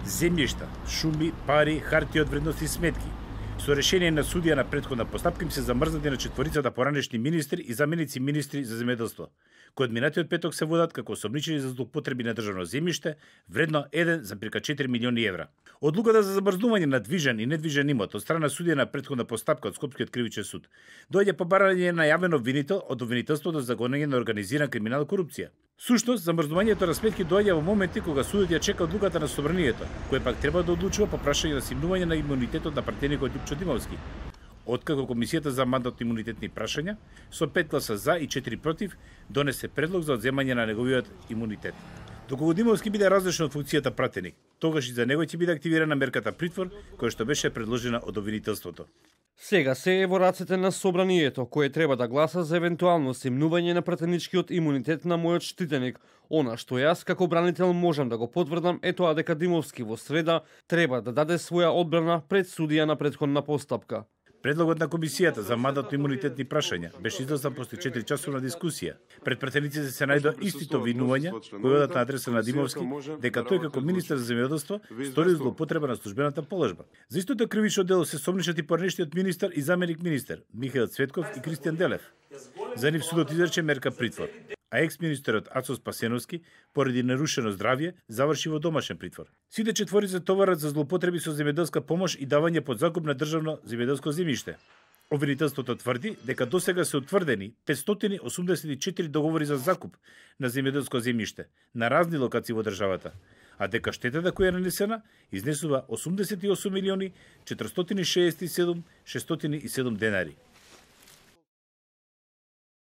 земјишта, шуми, пари, хартија од вредност и сметки. Со решение на судија на претходна постапка им се замрзнати на четворицата поранешни министри и заменици министри за земјоделство, кои од минатиот петок се водат како осомничени за злоупотреби на државно земјиште, вредно 1,4 милиони евра. Одлуката за замрзнување на движен и недвижен имот од страна судија на претходна постапка од Скопскиот кривичен суд доаѓа по барање на јавен обвинител од обвинителството за гонење на организирана криминал корупција. Сушност, замрзнувањето на сметки доаѓа во моменти кога судот ја чека одлуката на собранието, кој пак треба да одлучува по прашање на симнување на имунитетот на пратеникот Љупчо Димовски. Откако Комисијата за мандатно-имунитетни прашања со 5 гласа за и 4 против донесе предлог за одземање на неговиот имунитет. Доколку Димовски биде разрешен од функцијата пратеник, тогаш и за него ќе биде активирана мерката притвор, која што беше предложена од обвинителството. Сега се е во рацете на собранието, кое треба да гласа за евентуално симнување на пратеничкиот имунитет на мојот штитеник. Она што јас како бранител можам да го потврдам е тоа дека Димовски во среда треба да даде своја одбрана пред судија на претходна постапка. Предлогот на Комисијата за мандатно-имунитетни прашања беше излезен после 4-часовна дискусија. Пред пратениците се најдоа истите обвинувања кои одат на адреса на Димовски дека тој како министер за земјоделство стори злоупотреба на службената положба. За истото кривично дело се сомничат и поранешниот министер и заменик министер Михаил Цветков и Кристијан Делев. За нив судот изрече мерка притвор, а екс-министерот Ацо Спасеновски, поради нарушено здравје, заврши во домашен притвор. Сите четворица товарат за злоупотреби со земјоделска помош и давање под закуп на државно земјоделско земјиште. Обвинителството тврди дека досега се утврдени 584 договори за закуп на земјоделско земјиште на разни локации во државата, а дека штетата која е нанесена изнесува 88 милиони 467 607 денари.